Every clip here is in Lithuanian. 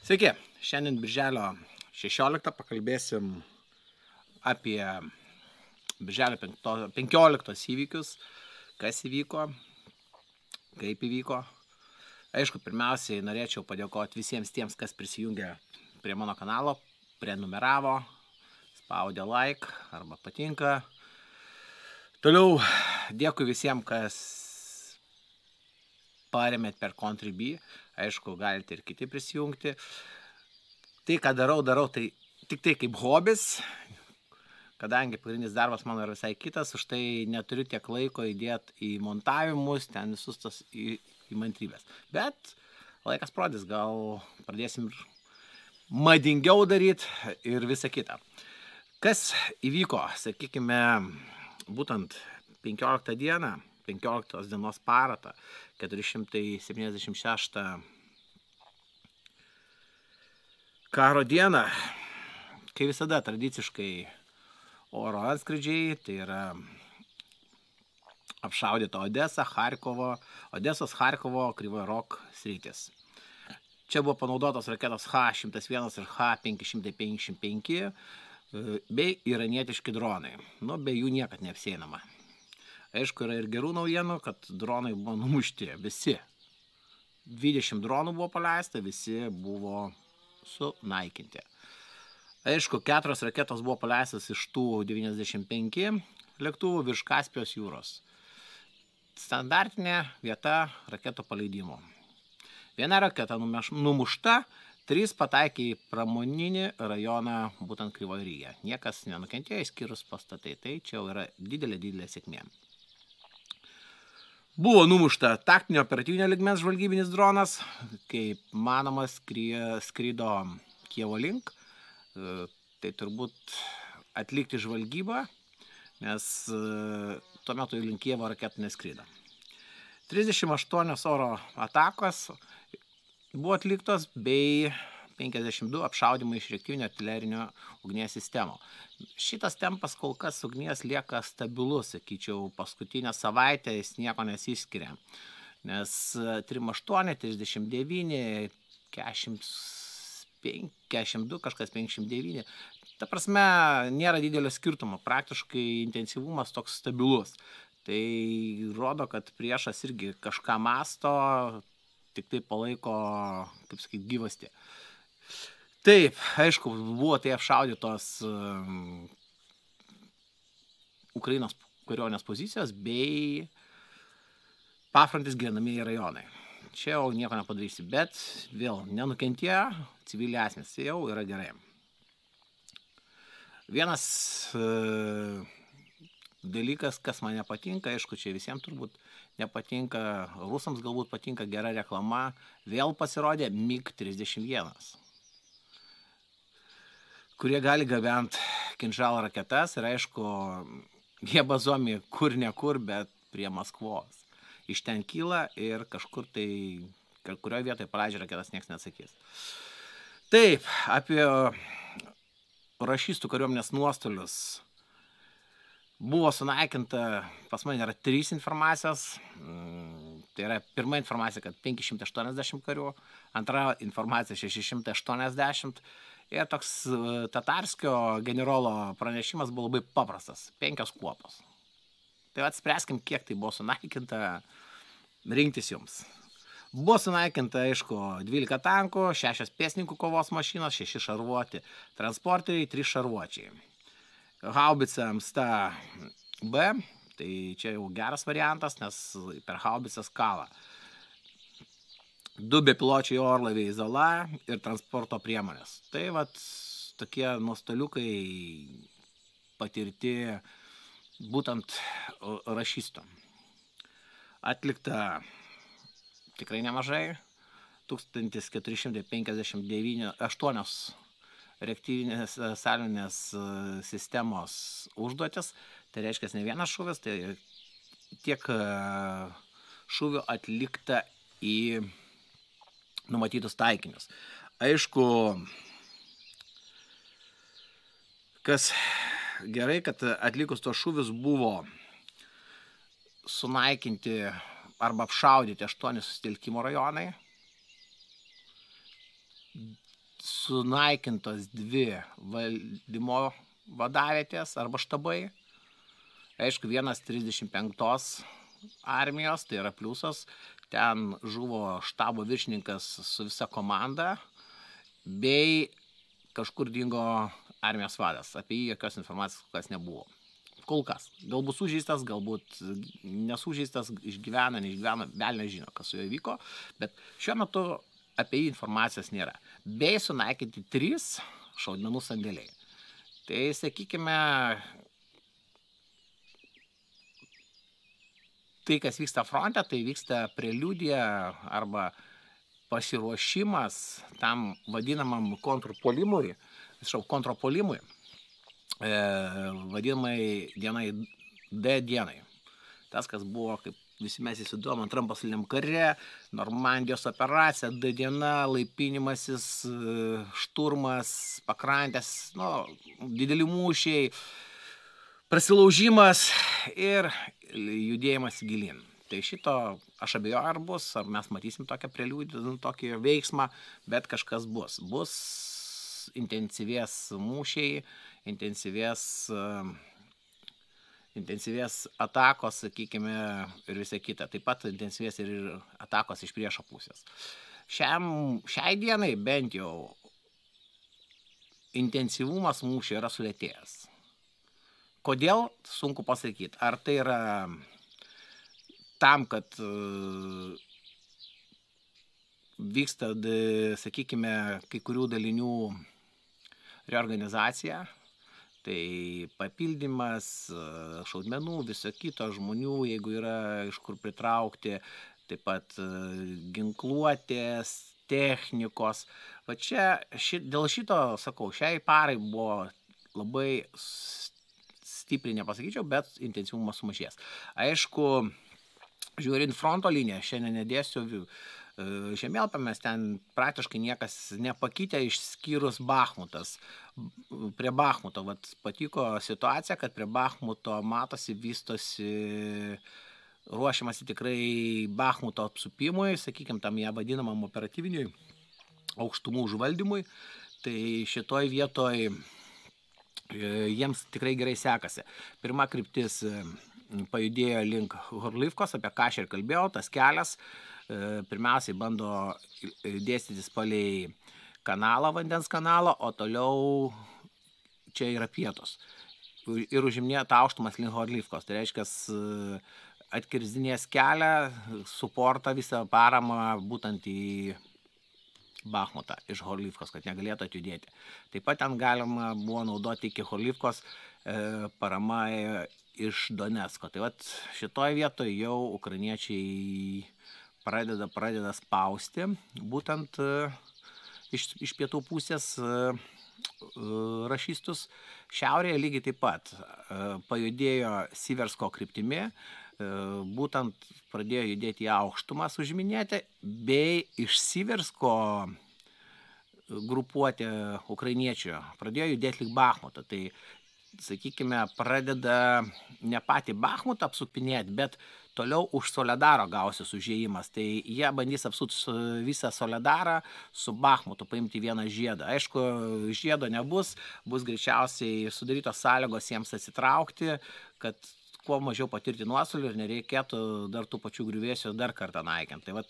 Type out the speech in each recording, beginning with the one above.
Sveiki, šiandien birželio 16 pakalbėsim apie birželio 15 įvykius, kas įvyko, kaip įvyko. Aišku, pirmiausiai norėčiau padėkoti visiems tiems, kas prisijungė prie mano kanalo, prenumeravo, spaudė like arba patinka. Toliau dėkui visiems, kas paremėt per Contribui. Aišku, galite ir kiti prisijungti. Tai, ką darau, tai tik tai kaip hobis, kadangi pagrindinis darbas mano yra visai kitas, už tai neturiu tiek laiko įdėti į montavimus, ten visus tas įmantrybės. Bet laikas prodys, gal pradėsim madingiau daryti ir visą kitą. Kas įvyko, sakykime, būtent 15 dieną, 15 dienos paratą, 476 karo dieną, kai visada tradiciškai oro antskridžiai, tai yra apšaudyta Odesa, Odesos, Charkovo, Kryvojo Rog sritis. Čia buvo panaudotos raketos H-101 ir H-555 bei iranietiški dronai. Be jų niekad neapsieinama. Aišku, yra ir gerų naujienų, kad dronai buvo numušti visi. 20 dronų buvo paleista, visi buvo sunaikinti. Aišku, 4 raketos buvo paleistas iš tų 95 lėktuvų virš Kaspijos jūros. Standartinė vieta raketo paleidimo. Viena raketa numušta, 3 pataikė į pramoninį rajoną, būtent Kryvojo Ryge. Niekas nenukentėjo, išskyrus pastatai. Tai čia yra didelė sėkmė. Buvo numušta taktinio operatyvinio lygmens žvalgybinis dronas, kaip manoma skrido Kijevo link. Tai turbūt atlikti žvalgybą, nes tuo metu link Kijevo raketų neskrido. 38 oro atakos buvo atliktos bei 52 apšaudymai iš reaktyvinio artilerinio ugnies sistemų. Šitas tempas kol kas ugnies lieka stabilus, sakyčiau, paskutinę savaitę jis nieko nesiskiria. Nes 38, 39, 42, kažkas 59. Ta prasme, nėra didelio skirtumo, praktiškai intensyvumas toks stabilus. Tai rodo, kad priešas irgi kažką masto, tik tai palaiko, kaip sakyti, gyvastį. Taip, aišku, buvo tai apšaudytos Ukrainos kariuomenės pozicijos bei pafrontės gyvenamieji rajonai. Čia jau nieko nepadarysi, bet vėl nenukentėjo civiliai asmenys, jau yra gerai. Vienas dalykas, kas man nepatinka, aišku, čia visiems turbūt nepatinka, rusams galbūt patinka gera reklama, vėl pasirodė MiG-31, kurie gali gabent Kinžalo raketas ir aišku, jie bazuomi kur nekur, bet prie Maskvos. Iš ten kyla ir kažkur tai, kurioje vietoje paleidžia raketas, niekas neatsakys. Taip, apie rašistų kariuomenės nuostolius. Buvo sunaikinta, pas mane yra 3 informacijos. Tai yra pirma informacija, kad 580 karių, antra informacija 680. Ir toks Tatarskio generolo pranešimas buvo labai paprastas. 5 kuopos. Tai spręskim, kiek tai buvo sunaikinta, rinktis jums. Buvo sunaikinta, aišku, 12 tankų, 6 pėstininkų kovos mašinos, 6 šarvuoti transporteriai, 3 šarvuočiai. Haubicams ta B, tai čia jau geras variantas, nes per haubicas kala. 2 bepiločiai orlaiviai Zola ir transporto priemonės. Tai tokie nuostoliukai patirti būtent rašistų. Atlikta tikrai nemažai, 1458 reaktyvinės salvinės sistemos užduotis. Tai reiškia ne vienas šūvis, tai tiek šūvių atlikta į numatytus taikinius. Aišku, kas gerai, kad atlikus tos šūvius buvo sunaikinti arba apšaudyti 8 susitelkimo rajonai. sunaikintos 2 valdymo vadavietės arba štabai. Aišku, vienas 35 armijos, tai yra pliusas. Ten žuvo štabo viršininkas su visa komanda, bei kažkur dingo armijos vadas. Apie jį jokios informacijos kol kas nebuvo. Kol kas. Galbūt sužeistas, galbūt nesužeistas, išgyvena, neišgyvena, velnias žino, kas su juo vyko, bet šiuo metu apie jį informacijos nėra. Bei sunaikinti 3 šaudmenų sandėliai. Tai, sakykime, tai, kas vyksta fronte, tai vyksta preliudija arba pasiruošimas tam vadinamam kontrpuolimui, vadinamai dienai D dienai. Tas, kas buvo, kaip visi mes įsiduom, antram pasauliniam kare, Normandijos operacija, D diena, laipinimasis, šturmas, pakrantės, dideli mūšiai, prasilaužimas ir judėjimas gilin. Tai šito aš abejoju, ar bus, ar mes matysim tokią preliudiją, tokį veiksmą, bet kažkas bus. Bus intensyvės mūšiai, intensyvės atakos, sakykime, ir visa kita. Taip pat intensyvės ir atakos iš priešo pusės. Šiai dienai bent jau intensyvumas mūšio yra sulėtėjęs. Kodėl? Sunku pasakyti. Ar tai yra tam, kad vyksta, sakykime, kai kurių dalinių reorganizacija, tai papildymas šaudmenų, viso kito žmonių, jeigu yra iš kur pritraukti, taip pat ginkluotės, technikos. Va čia, dėl šito, sakau, šiai parai buvo labai stipriai nepasakyčiau, bet intensyvumas sumažės. Aišku, žiūrint fronto liniją, šiandien nedėsiu žemėlapį, mes ten praktiškai niekas nepakitė išskyrus Bachmutas. Prie Bachmuto patiko situacija, kad prie Bachmuto matosi, vystosi, ruošiamasi tikrai Bachmuto apsupimui, sakykime, tam ją vadinamam operatyviniui aukštumų užvaldymui. Tai šitoj vietoj jiems tikrai gerai sekasi. Pirma kryptis pajudėjo link Horlivkos, apie ką aš ir kalbėjau, tas kelias pirmiausiai bando dėstytis palei kanalą, vandens kanalą, o toliau čia yra pietus. Ir užiminėja tą aukštumas link Horlivkos. Tai reiškia, atkirzdinės kelią, suportą visą paramą būtent į Bachmutą iš Horlivkos, kad negalėtų atjudėti. Taip pat ten galima buvo naudoti iki Horlivkos parama iš Donecko. Tai šitoj vietoje jau ukrainiečiai pradeda spausti, būtent iš pietų pusės rašystus. Šiaurėje lygiai taip pat pajudėjo Siversko kryptimi, būtent pradėjo judėti į aukštumas užiminėti, bei iš Siversko grupuotė ukrainiečių pradėjo judėti link Bachmuto. Tai, sakykime, pradeda ne patį Bachmutą apsupinėti, bet toliau už Soledaro gausis užėjimas. Tai jie bandys apsupti visą Soledarą su Bachmutu, paimti vieną žiedą. Aišku, žiedo nebus, bus greičiausiai sudarytos sąlygos jiems atsitraukti, kad kuo mažiau patirti nuostolių ir nereikėtų dar tų pačių griuvėsių dar kartą naikinti. Tai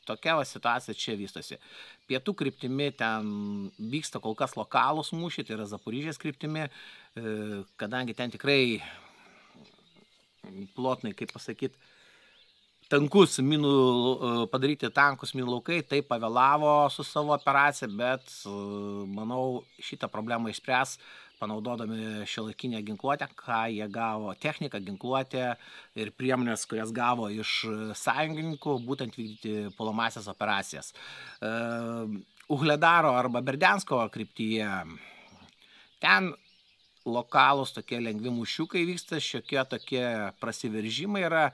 tokia situacija čia vystosi. Pietų kryptimi ten vyksta kol kas lokalūs mūšiai, tai yra Zaporižės kryptimi, kadangi ten tikrai plotnai, kaip pasakyti, tankus padaryti tankus minų laukai, tai pavėlavo su savo operacija, bet manau šitą problemą išspręs panaudodami šiuolaikinę ginkluotę, ką jie gavo, techniką, ginkluotę ir priemonės, kurias gavo iš sąjungininkų, būtent vykdyti puolamąsias operacijas. Uhledaro arba Berdiansko kryptyje, ten lokalūs tokie lengvi mūšiukai vyksta, šiokie tokie prasiveržimai yra,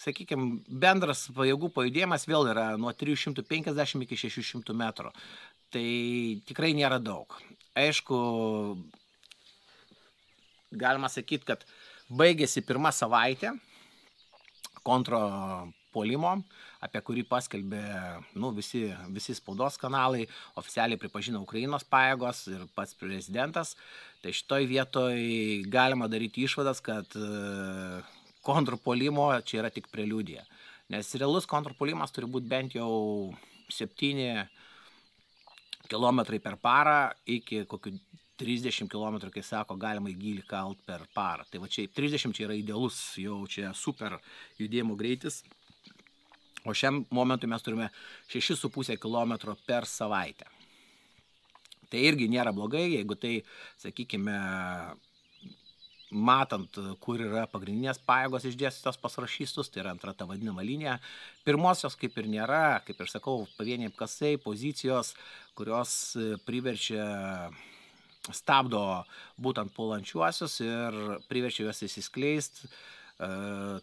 sakykime, bendras pajėgų pajudėjimas vėl yra nuo 350 iki 600 metrų. Tai tikrai nėra daug. Aišku, galima sakyti, kad baigėsi pirma savaitė kontrapuolimo. apie kurį paskelbė visi spaudos kanalai, oficialiai pripažino Ukrainos pajėgos ir pats prezidentas. Tai šitoj vietoj galima daryti išvadas, kad kontrpuolimo čia yra tik preliudija. Nes realus kontrpuolimas turi būti bent jau 7 km per parą iki kokių 30 km, kai sako, galima į gylį kalt per parą. Tai va čia 30 čia yra idealus, jau čia super judėjimo greitis. O šiam momentui mes turime 6,5 km per savaitę. Tai irgi nėra blogai, jeigu tai, sakykime, matant, kur yra pagrindinės pajėgos išdėstytos pas rašystus, tai yra antra ta vadinama linija. Pirmosios kaip ir nėra, kaip ir sakau, pavieniai apkasai, pozicijos, kurios stabdo būtent puolančiuosius ir priverčia juos įsiskleisti,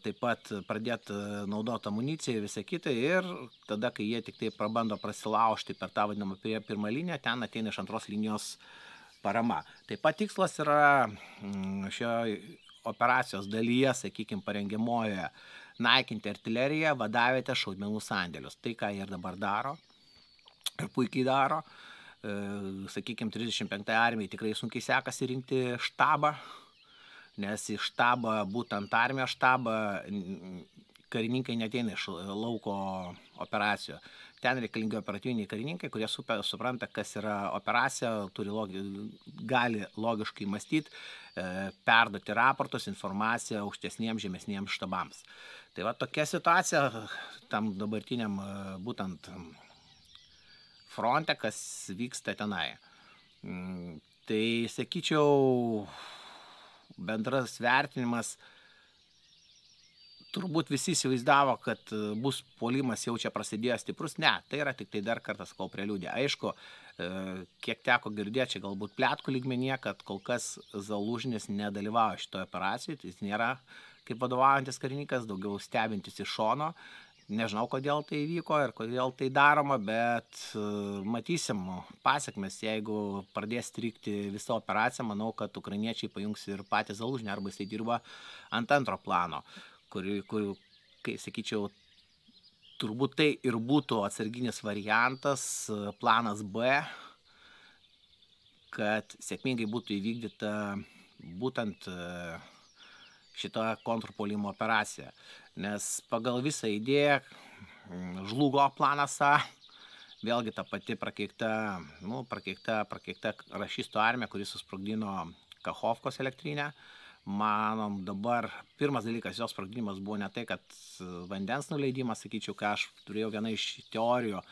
taip pat pradėti naudoti amuniciją ir visą kitą, ir tada, kai jie tik tai prabando prasilaužti per tą vadinamą pirmą liniją, ten ateina iš antros linijos parama. Taip pat tikslas yra šio operacijos dalyje, sakykime, parengiamojoje, naikinti artileriją, vadavietę, šaudmenų sandėlius. Tai, ką jie ir dabar daro, ir puikiai daro. Sakykime, 35 armijai tikrai sunkiai sekasi rinkti štabą, nes į štabą, būtent armijos štabą, karininkai neateina iš lauko operacijų. Ten reikalingi operatyviniai karininkai, kurie supranta, kas yra operacija, gali logiškai mąstyti, perduoti raportus, informaciją aukštesniems, žemesniems štabams. Tai va tokia situacija tam dabartiniam būtent fronte, kas vyksta tenai. Tai sakyčiau, bendras vertinimas, turbūt visi įsivaizdavo, kad bus puolimas jau čia prasidėjo stiprus. Ne, tai yra tik tai dar kartą sakau preliudija. Aišku, kiek teko girdėti, čia galbūt pletkų lygmenyje, kad kol kas Zalužnis nedalyvauja šitoje operacijoje, tai jis nėra kaip vadovaujantis karininkas, daugiau stebintis iš šono. Nežinau, kodėl tai įvyko ir kodėl tai daroma, bet matysim pasiekmes. Jeigu pradės strigti visą operaciją, manau, kad ukrainiečiai pajungs ir patį Zalužnį, arba jisai dirba ant antro plano, kur, kai sakyčiau, turbūt tai ir būtų atsarginis variantas, planas B, kad sėkmingai būtų įvykdyta būtent šita kontrpuolimo operacija. Nes pagal visą idėją žlugo planas A, vėlgi ta pati prakeikta rašystų armija, kuris susprogdino Kachovkos elektrinę. Manom dabar, pirmas dalykas, jos sprogdinimas buvo ne tai, kad vandens nuleidimas, sakyčiau, ką aš turėjau vieną iš teorijų,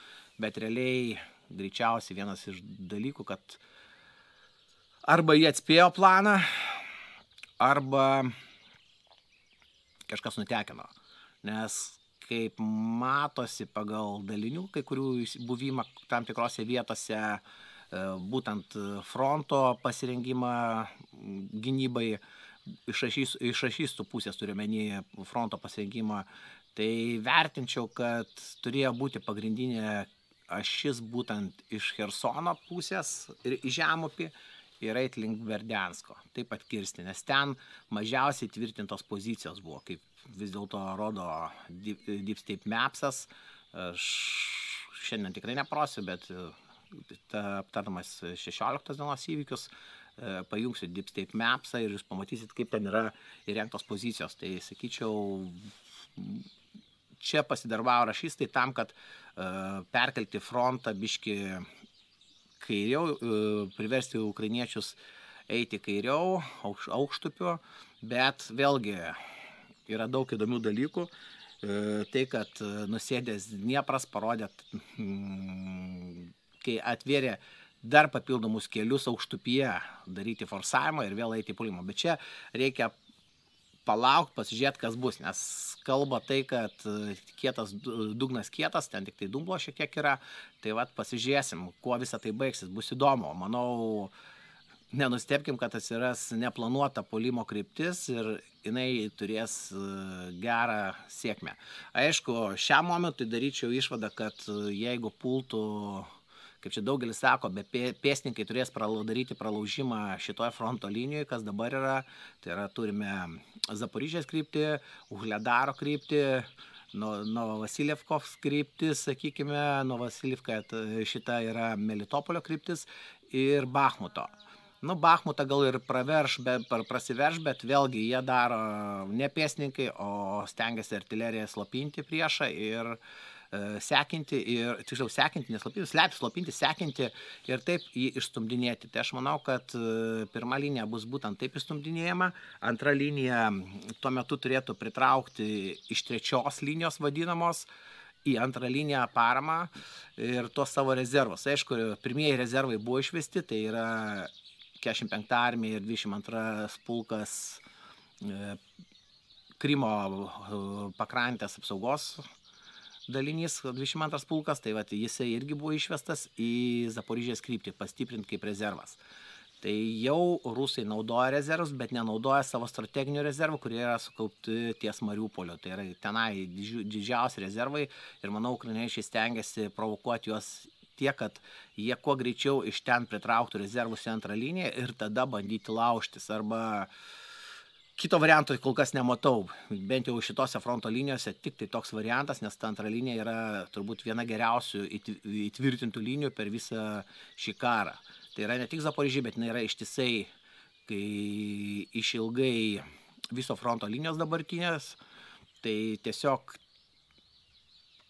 bet realiai greičiausiai vienas iš dalykų, kad arba jie atspėjo planą, arba kažkas nutekino. Nes kaip matosi pagal dalinių, kai kurių buvimą tam tikrose vietose, būtent fronto pasirengimą gynybai, iš rašystų pusės turiuomenį fronto pasirengimą, tai vertinčiau, kad turėjo būti pagrindinė ašis būtent iš Chersono pusės ir į žemupį ir eit link Berdiansko, taip pat kirsti, nes ten mažiausiai tvirtintos pozicijos buvo, kaip vis dėlto rodo Deep State Mapsas. Aš šiandien tikrai neprosiu, bet aptardamas 16 dienos įvykius, pajungsiu Deep State Mapsą ir jūs pamatysit, kaip ten yra įrengtos pozicijos. Tai sakyčiau, čia pasidarbavo rašystai tam, kad perkelti frontą biškį kairiau, priversti ukrainiečius eiti kairiau, aukštupiu, bet vėlgi yra daug įdomių dalykų. Tai, kad nusėdęs Dniepras parodė, kai atvėrė dar papildomus kelius aukštupyje, daryti forsavimą ir vėl eiti į puolimą. Bet čia reikia palaukti, pasižiūrėti, kas bus, nes kalba tai, kad kietas, dugnas kietas, ten tik tai dumblo šiek tiek yra, tai vat pasižiūrėsim, kuo visą tai baigsis, bus įdomu. Manau, nenustebkim, kad atsiras neplanuota puolimo kryptis ir jinai turės gerą sėkmę. Aišku, šiam momentui daryčiau išvadą, kad jeigu pultų, kaip čia daugelis sako, bet pėstininkai turės daryti pralaužimą šitoje fronto linijoje, kas dabar yra. Tai yra, turime Zaporižės kryptį, Uhledaro kryptį, Novovasiljevkos kryptis, sakykime, Novovasiljevka šita yra Melitopolio kryptis ir Bachmuto. Bachmutą gal ir prasiverš, bet vėlgi jie daro ne pėstininkai, o stengiasi artileriją slopinti priešą ir sekinti, tiksliau sekinti, neslopinti, slopinti, sekinti ir taip jį išstumdinėti. Tai aš manau, kad pirma linija bus būtent taip išstumdinėjama, antra linija tuo metu turėtų pritraukti iš trečios linijos vadinamos į antrą liniją paramą ir tuos savo rezervus. Aišku, pirmieji rezervai buvo išvesti, tai yra 45 armija ir 22 pulkas Krymo pakrantės apsaugos dalinys, 22 pulkas, tai jisai irgi buvo išvestas į Zaporižės kryptį, pastiprinti kaip rezervas. Tai jau rusai naudoja rezervus, bet nenaudoja savo strateginių rezervų, kurie yra sukaupti ties Mariupolio. Tai yra tenai didžiausi rezervai ir manau, ukrainiečiai stengiasi provokuoti juos tiek, kad jie kuo greičiau iš ten pritrauktų rezervus į antrą liniją ir tada bandyti laužtis arba kito varianto kol kas nematau, bent jau šitose fronto linijose tik tai toks variantas, nes ta antra linija yra turbūt viena geriausių įtvirtintų linijų per visą šį karą. Tai yra ne tik Zaporižė, bet yra ištisai, kai išilgai viso fronto linijos dabartinės, tai tiesiog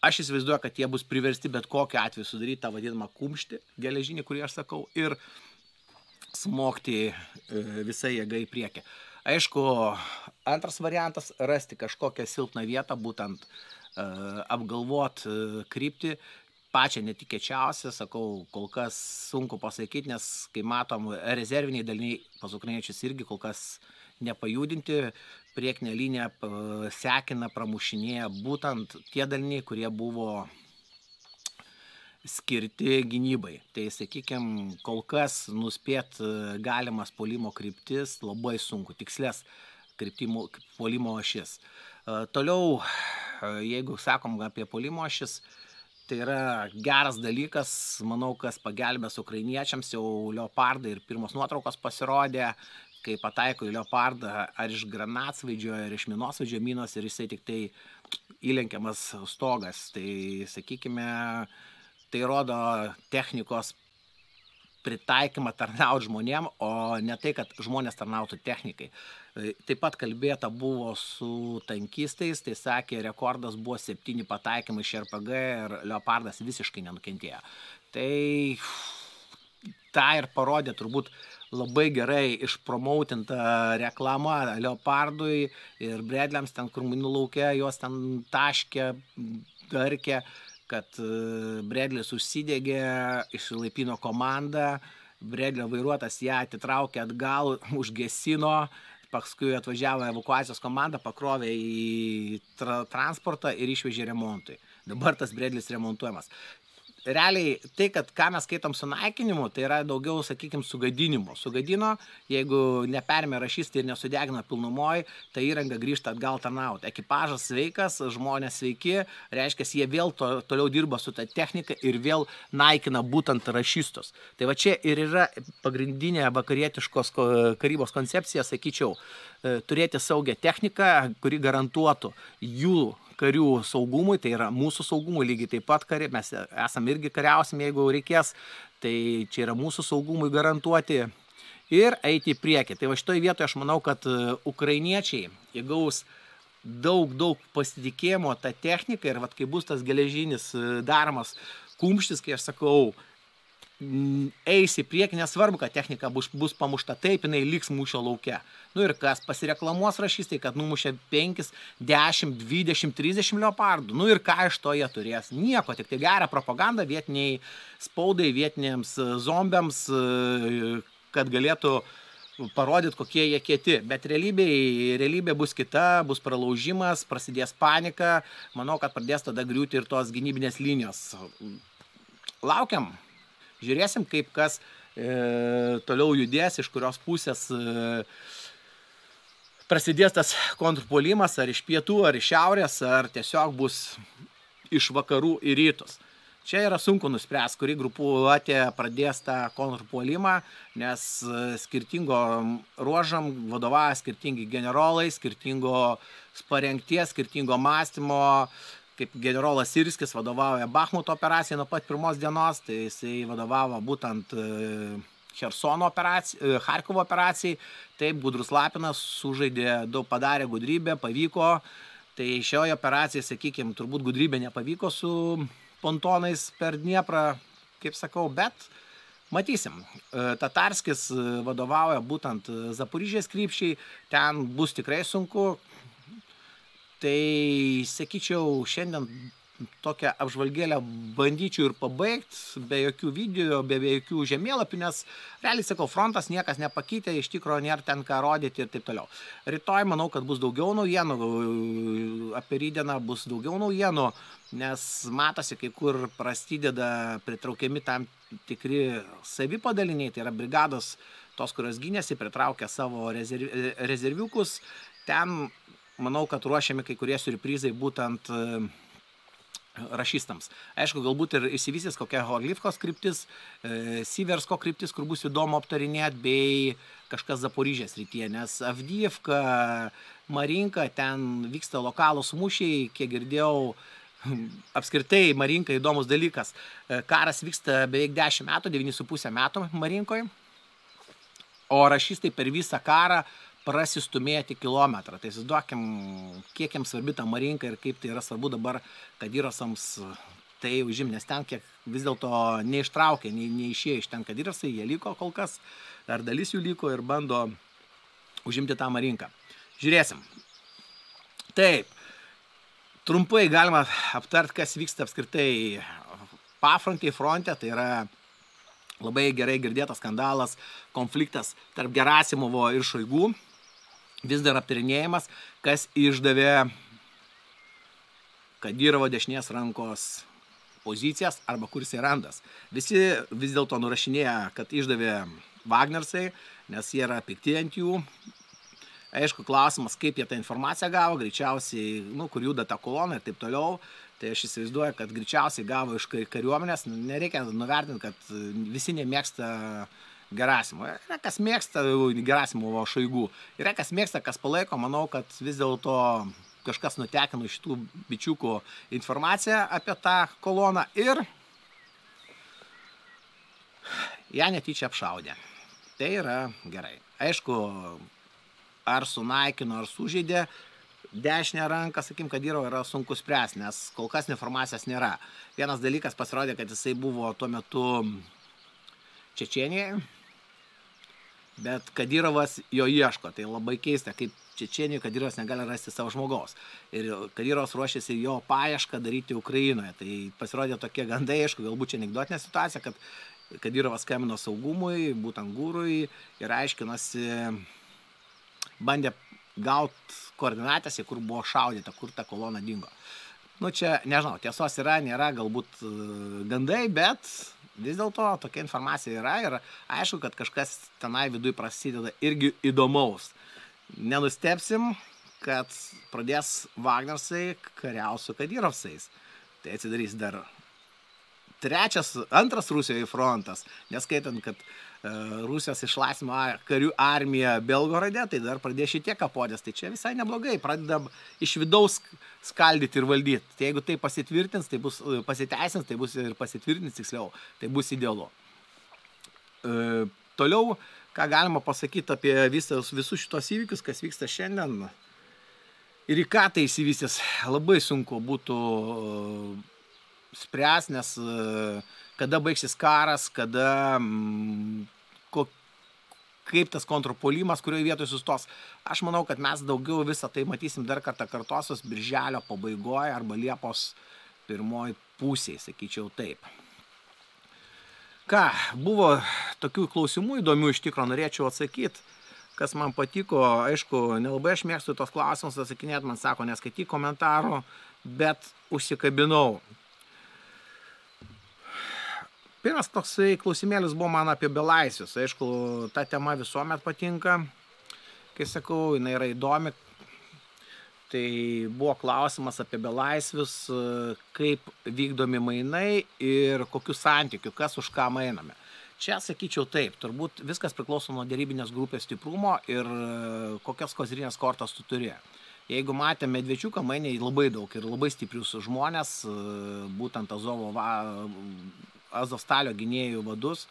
aš įsivaizduoju, kad jie bus priversti bet kokiu atveju sudaryti tą vadinamą kumštį geležinį, kurį aš sakau, ir smogti visą jėgą į priekį. Aišku, antras variantas - rasti kažkokią silpną vietą, būtent apgalvot kryptį, pačią netikėčiausią, sakau, kol kas sunku pasakyti, nes, kai matom, rezerviniai daliniai pas ukrainiečius irgi kol kas nepajudinti, priekinę liniją sekina, pramušinėja būtent tie daliniai, kurie buvo skirti gynybai. Tai, sakykime, kol kas nuspėt galimas puolimo kryptis labai sunku, tikslės puolimo ašis. Toliau, jeigu sakom apie puolimo ašis, tai yra geras dalykas, manau, kas pagelbės ukrainiečiams, jau Leopardai ir pirmos nuotraukos pasirodė, kai pataiko į Leopardą ar iš granatsvaidžio, ar iš minosvaidžio minos ir jisai tik tai įlenkiamas stogas. Tai, sakykime, tai rodo technikos pritaikymą tarnauti žmonėm, o ne tai, kad žmonės tarnautų technikai. Taip pat kalbėta buvo su tankistais, tai sakė, rekordas buvo 7 pataikymai iš RPG ir Leopardas visiškai nenukentėjo. Tai tą ir parodė turbūt labai gerai išpromautinta reklama Leopardui ir Bredliams, ten kur minų lauke, jos ten taškė, darkė, kad Bredlis užsidegė, išsilaipino komandą, Bredlio vairuotas ją atitraukė atgal, užgesino, paskui atvažiavo evakuacijos komanda, pakrovė į transportą ir išvežė remontui. Dabar tas Bredlis remontuojamas. Realiai tai, kad ką mes skaitom su naikinimu, tai yra daugiau, sakykime, sugadinimu. Sugadino, jeigu nepermė rašystai ir nesudegina pilnumoj, tai įranga grįžta atgal tarnauti. Ekipažas sveikas, žmonės sveiki, reiškia, jie vėl toliau dirba su ta technika ir vėl naikina būtent rašystus. Tai va čia ir yra pagrindinė vakarietiškos karybos koncepcija, sakyčiau, turėti saugią techniką, kuri garantuotų jų karių saugumui, tai yra mūsų saugumui lygiai taip pat kariai, mes esam irgi kariausim, jeigu reikės, tai čia yra mūsų saugumui garantuoti ir eiti į priekį. Tai va šitoj vietoje aš manau, kad ukrainiečiai įgaus daug pasitikėjimo tą techniką ir kai bus tas geležinis daromas kumštis, kai aš sakau, eis į priekį, nesvarbu, kad technika bus pamušta taip, jinai liks mūšio lauke. Ir kas pasireklamuos rašystai, kad numušė 5, 10, 20, 30 leopardų. Ir ką iš to jie turės? Nieko, tik tai gerą propagandą vietiniai spaudai, vietiniams zombiams, kad galėtų parodyti, kokie jie kieti. Bet realybė bus kita, bus pralaužimas, prasidės panika. Manau, kad pradės tada griūti ir tos gynybinės linijos. Laukiam. Žiūrėsim, kaip kas toliau judės, iš kurios pusės prasidės tas kontrpuolimas, ar iš pietų, ar iš šiaurės, ar tiesiog bus iš vakarų į rytus. Čia yra sunku nuspręsti, kuri grupuotė pradės tą kontrpuolimą, nes skirtingom ruožam vadovauja skirtingi generolai, skirtingos parengties, skirtingo mąstymo. Kaip generolas Sirskis vadovauja Bachmuto operacijai nuo pat pirmos dienos, tai jisai vadovavo būtent Chersono operacijai, Charkovo operacijai. Taip, Gudrus Lapinas sužaidė, daug padarė gudrybę, pavyko. Tai šioje operacijai, sakykime, turbūt gudrybė nepavyko su pontonais per Dnieprą, kaip sakau, bet matysim. Tatarskis vadovauja būtent Zaporižės krypčiai, ten bus tikrai sunku. Tai, sakyčiau, šiandien tokią apžvalgėlę bandyčiau ir pabaigti, be jokių video, be jokių žemėlapių, nes realiai, sakau, frontas niekas nepakeitė, iš tikrųjų nėra ten ką rodyti ir taip toliau. Rytoj manau, kad bus daugiau naujienų, apie rytdieną bus daugiau naujienų, nes matosi, kai kur prasideda pritraukiami tam tikri savipadaliniai, tai yra brigados, tos, kurios gynėsi, pritraukia savo rezerviukus. Ten, manau, kad ruošiami kai kurie siurprizai būtent rašystams. Aišku, galbūt ir įsivystys kokia Horlivkos kryptis, Siversko kryptis, kur bus įdomu aptarinėti, bei kažkas Zaporižės rytyje, nes Avdijevka, Marinka, ten vyksta lokalūs mūšiai, kiek girdėjau, apskritai Marinka įdomus dalykas. Karas vyksta beveik 10 metų, 9,5 metų Marinkoje, o rašystai per visą karą prasistumėti kilometrą. Tai įsivaizduokim, kiek jiems svarbi ta Marinka ir kaip tai yra svarbu dabar Kadyrosams tai užimti, nes ten kiek vis dėlto neištraukė, neišėjo iš ten Kadyrosai, jie liko kol kas, dar dalis jų liko ir bando užimti tą Marinką. Žiūrėsim. Taip, trumpai galima aptarti, kas vyksta apskritai pafrontėje, fronte, tai yra labai gerai girdėtas skandalas, konfliktas tarp Gerasimovo ir Šoigų, vis dar aptarinėjimas, kas išdavė Kadyrovo dešinės rankos pozicijas arba kur jisai randas. Visi vis dėlto nurašinėja, kad išdavė Wagnersai, nes jie yra pikti ant jų. Aišku, klausimas, kaip jie tą informaciją gavo, greičiausiai, kur juda ta kolona ir taip toliau. Tai aš įsivaizduoju, kad greičiausiai gavo iš kariuomenės. Nereikia nuvertinti, kad visi nemėgsta Gerasimo. Yra kas mėgsta Gerasimovo Šoigų. Yra kas mėgsta, kas palaiko. Manau, kad vis dėlto kažkas nutekino šitų bičiukų informaciją apie tą koloną ir ją netyčia apšaudė. Tai yra gerai. Aišku, ar sunaikino, ar sužeidė dešinę ranką, sakykim, Kadyrovo yra sunku spręsti, nes kol kas informacijos nėra. Vienas dalykas pasirodė, kad jisai buvo tuo metu Čečėnijoje, bet Kadyrovas jo ieško. Tai labai keista, kaip Čečėnijoje Kadyrovas negali rasti savo žmogaus. Ir Kadyrovas ruošiasi jo paiešką daryti Ukrainoje. Tai pasirodė tokie gandai, aišku, galbūt čia anekdotinė situacija, kad Kadyrovas skambino saugumui, būtent Gurui, ir aiškinosi, bandė gauti koordinatės, kur buvo šaudyta, kur ta kolona dingo. Čia, nežinau, tiesos yra, nėra, galbūt gandai, bet vis dėlto tokia informacija yra ir aišku, kad kažkas tenai viduj prasideda irgi įdomaus. Nenustepsim, kad pradės Wagnersai kariauti su Kadyrovsais. Tai atsidarys dar antras Rusijoje frontas, neskaitant, kad Rusijos išlaisvino karių armiją Belgorode, tai dar pradės šitie kapodės. Tai čia visai neblogai, pradedam iš vidaus skaldyti ir valdyti. Tai jeigu tai pasitvirtins, tai bus pasiteisins, tai bus ir pasitvirtins tiksliau, tai bus idealu. Toliau, ką galima pasakyti apie visus šitos įvykius, kas vyksta šiandien ir į ką tai įsivystys, labai sunku būtų spręs, nes kada baigsis karas, kada kaip tas kontrpuolimas, kurioje vietoje sustos. Aš manau, kad mes daugiau visą tai matysim dar kartą kartosios birželio pabaigoje arba Liepos pirmoji pusėje, sakyčiau taip. Ką, buvo tokių klausimų įdomių iš tikro, norėčiau atsakyti, kas man patiko. Aišku, nelabai aš mėgstu tos klausimus atsakinėti, man sako, neskaityk komentarų, bet užsikabinau. Pirmas toksai klausimėlis buvo man apie belaisvius. Aišku, ta tema visuomet patinka. Kai sakau, jinai yra įdomi. Tai buvo klausimas apie belaisvius, kaip vykdomi mainai ir kokiu santykiu, kas už ką mainame. Čia sakyčiau taip, turbūt viskas priklauso nuo derybinės grupės stiprumo ir kokias kozrinės kortas tu turi. Jeigu matėme Medvečiuką, mainė labai daug ir labai stiprius žmonės, būtent Azovstalio gynėjų vadus,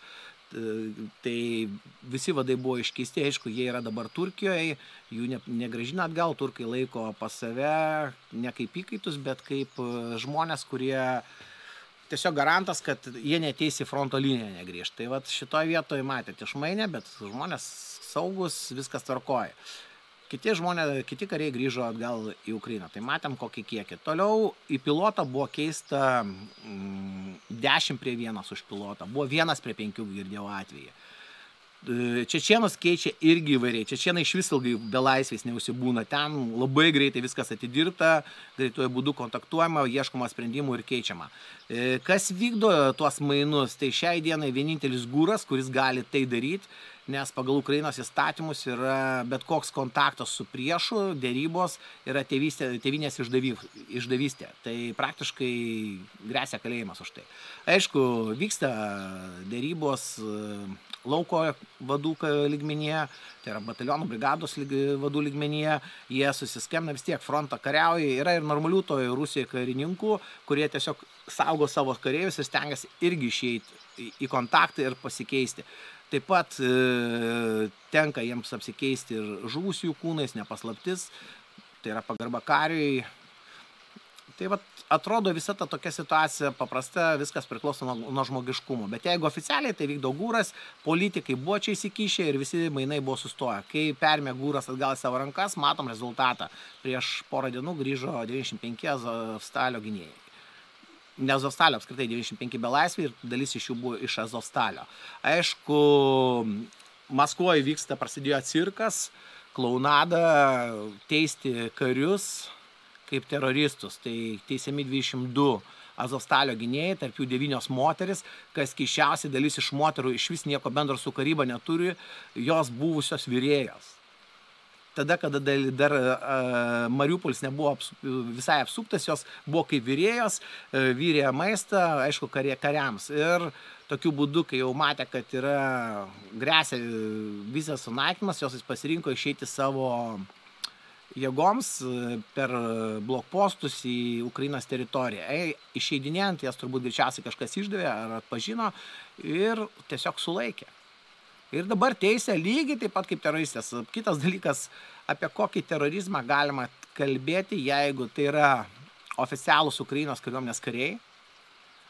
tai visi vadai buvo iškeisti, aišku, jie yra dabar Turkijoje, jų negrąžina atgal, turkai laiko pas save ne kaip įkaitus, bet kaip žmonės, kurie tiesiog garantas, kad jie neteis į fronto liniją negrįžt. Tai vat šitoje vietoje matėte išmainę, bet žmonės saugus, viskas tvarkoja. Kiti kariai grįžo atgal į Ukrainą, tai matėm kokį kiekį. Toliau į pilotą buvo keista 10:1 už pilotą, buvo 1:5 girdėjau atvejį. Čečėnus keičia irgi įvairiai, čečėnai iš vis ilgai belaisviais neusibūna, ten labai greitai viskas atidirbta, greituoju būdu kontaktuojama, ieškoma sprendimų ir keičiama. Kas vykdo tuos mainus, tai šiai dienai vienintelis gūras, kuris gali tai daryti, nes pagal Ukrainos įstatymus yra bet koks kontaktas su priešu, dėrybos yra tėvynės išdavystė. Tai praktiškai gresia kalėjimas už tai. Aišku, vyksta dėrybos lauko vadų lygmenyje, tai yra batalionų brigados vadų lygmenyje, jie susiskemina vis tiek frontą kariauja, yra ir normalių toje Rusijoje karininkų, kurie tiesiog saugo savo kareivius ir stengiasi irgi išeiti į kontaktą ir pasikeisti. Taip pat tenka jiems apsikeisti ir žuvusių kūnais, nepaslaptis, tai yra pagarba kariui. Tai vat, atrodo visa ta tokia situacija paprasta, viskas priklauso nuo žmogiškumo. Bet jeigu oficialiai tai vykdo gūras, politikai buvo čia įsikišę ir visi mainai buvo sustoję. Kai perėmė gūras atgal į savo rankas, matom rezultatą. Prieš porą dienų grįžo 95 Azovstalio gynėjai. Ne Azovstalio, apskritai 95 belaisviai ir dalis iš jų buvo iš Azovstalio. Aišku, Maskvoje vyksta, prasidėjo cirkas, klaunada, teisti karius kaip teroristus. Tai teisiami 22 Azovstalio gynėjai, tarp jų 9 moteris, kas keisčiausiai dalis iš moterų iš vis nieko bendro su karyba neturi, jos buvusios virėjos. Tada, kada dar Mariupolis nebuvo visai apsuptas, jos buvo kaip virėjos, vyrė maistą, aišku, kariams. Ir tokiu būdu, kai jau matė, kad yra gresia visas sunaikymas, jos pasirinko išeiti savo jėgoms per blokpostus į Ukrainos teritoriją. Išeidinėjant, jas turbūt greičiausiai kažkas išdavė ar atpažino ir tiesiog sulaikė. Ir dabar teisė lygiai taip pat kaip teroristės. Kitas dalykas, apie kokį terorizmą galima kalbėti, jeigu tai yra oficialūs Ukrainos kariuomenės kariai,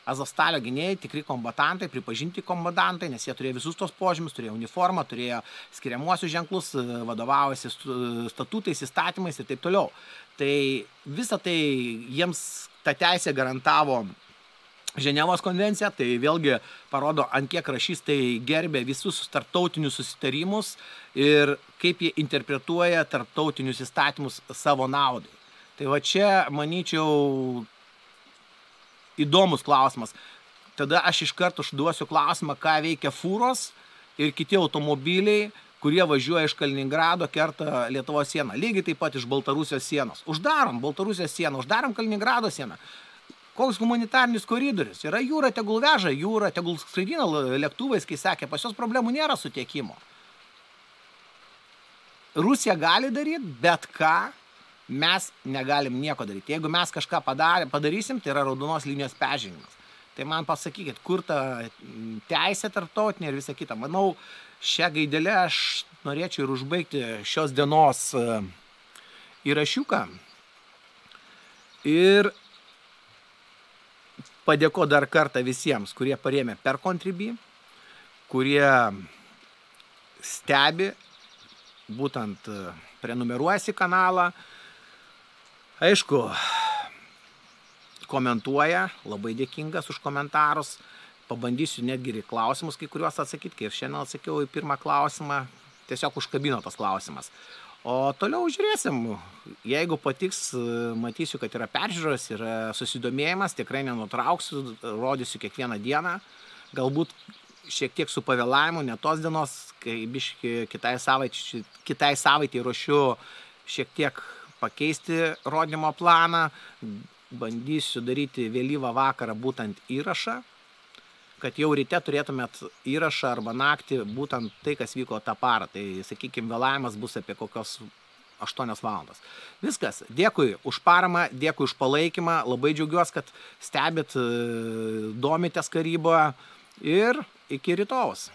Azovstalio gynėjai, tikri kombatantai, pripažinti kombatantai, nes jie turėjo visus tos požymius, turėjo uniformą, turėjo skiriamuosius ženklus, vadovavosi statutais, įstatymais ir taip toliau. Tai visą tai jiems ta teisė garantavo Ženevos konvencija, tai vėlgi parodo, ant kiek rašystai gerbė visus tarptautinius susitarimus ir kaip jie interpretuoja tarptautinius įstatymus savo naudai. Tai va čia, manyčiau, įdomus klausimas. Tada aš iš karto užduosiu klausimą, ką veikia fūros ir kiti automobiliai, kurie važiuoja iš Kaliningrado, kerta Lietuvos sieną. Lygiai taip pat iš Baltarusijos sienos. Uždarom Baltarusijos sieną, uždarom Kaliningrado sieną. Koks humanitarnis koridorius? Yra jūra, tegul veža jūra, tegul skraidina lėktuvais, kai sakė, pas jos problemų nėra su tiekimo. Rusija gali daryti, bet ką mes negalim nieko daryti. Jeigu mes kažką padarysim, tai yra raudonos linijos peržengimas. Tai man pasakykit, kur ta teisė tarptautinė ir visa kita. Manau, šią gaidelę aš norėčiau ir užbaigti šios dienos įrašiuką. Ir padėko dar kartą visiems, kurie parėmė per Contribui, kurie stebi, būtent prenumeruojasi kanalą. Aišku, komentuoja, labai dėkingas už komentarus. Pabandysiu netgi ir klausimus kai kuriuos atsakyti, kai ir šiandien atsakiau į pirmą klausimą, tiesiog užkabino tas klausimas. O toliau žiūrėsim, jeigu patiks, matysiu, kad yra peržiūros, yra susidomėjimas, tikrai nenutrauksiu, rodysiu kiekvieną dieną, galbūt šiek tiek su pavėlavimu, ne tos dienos, kai biški kitai savaitė ruošiu šiek tiek pakeisti rodymo planą, bandysiu daryti vėlyvą vakarą būtent įrašą, kad jau ryte turėtumėt įrašą arba naktį būtent tai, kas vyko tą parą. Tai, sakykime, vėlavimas bus apie kokios 8 valandas. Viskas. Dėkui už paramą, dėkui už palaikymą. Labai džiaugiuosi, kad stebit, domitės karyboje ir iki rytojaus.